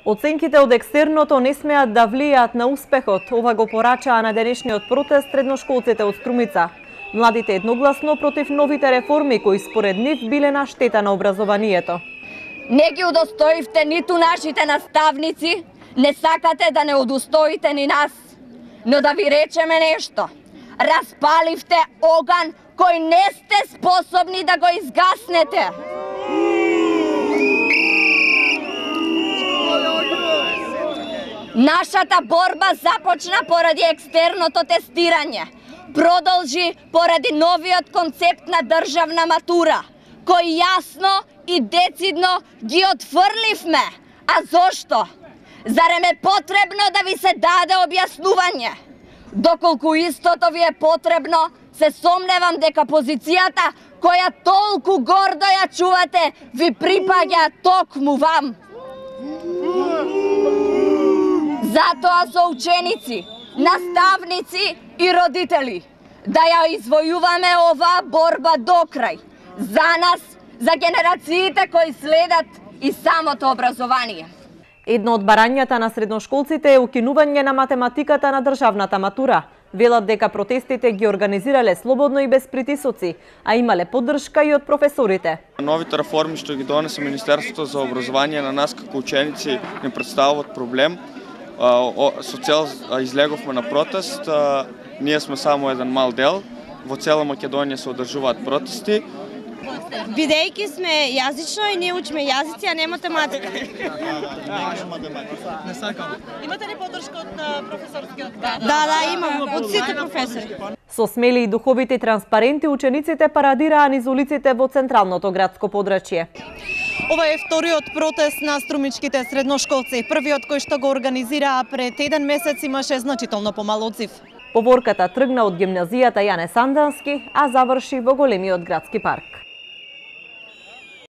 Оценките од екстерното не смеат да влијаат на успехот, ова го порачаа на денешниот протест средношколците од Струмица. Младите едногласно против новите реформи кои според нив биле на штета на образованието. Не ги удостоивте ниту нашите наставници, не сакате да не удостоите ни нас. Но да ви речеме нешто. Распаливте оган кој не сте способни да го изгаснете. Нашата борба започна поради екстерното тестирање. Продолжи поради новиот концепт на државна матура, кој јасно и децидно ги отфрливме. А зошто? Зарем е потребно да ви се даде објаснување? Доколку истото ви е потребно, се сомневам дека позицијата која толку гордо ја чувате ви припаѓа токму вам. Затоа со ученици, наставници и родители да ја извојуваме оваа борба до крај. За нас, за генерациите кои следат и самото образование. Едно од барањата на средношколците е укинување на математиката на државната матура. Велат дека протестите ги организирале слободно и без притисоци, а имале поддршка и од професорите. Новите реформи што ги донесе Министерството за образование на нас како ученици не представуваат проблем. Со цел излеговме на протест, ние сме само еден мал дел, во цела Македонија се одржуваат протести. Бидејќи сме јазично и ние учиме јазици, а не математика. Не сакам. Имате ли поддршка од професорскиот? Да, имам, од сите професори. Со смели и духовити транспаренти учениците парадираа низ улиците во централното градско подрачје. Ова е вториот протест на струмичките средношколци. Првиот кој што го организираа пред еден месец имаше значително помал одзив. Поворката тргна од гимназијата Јане Сандански, а заврши во големиот градски парк.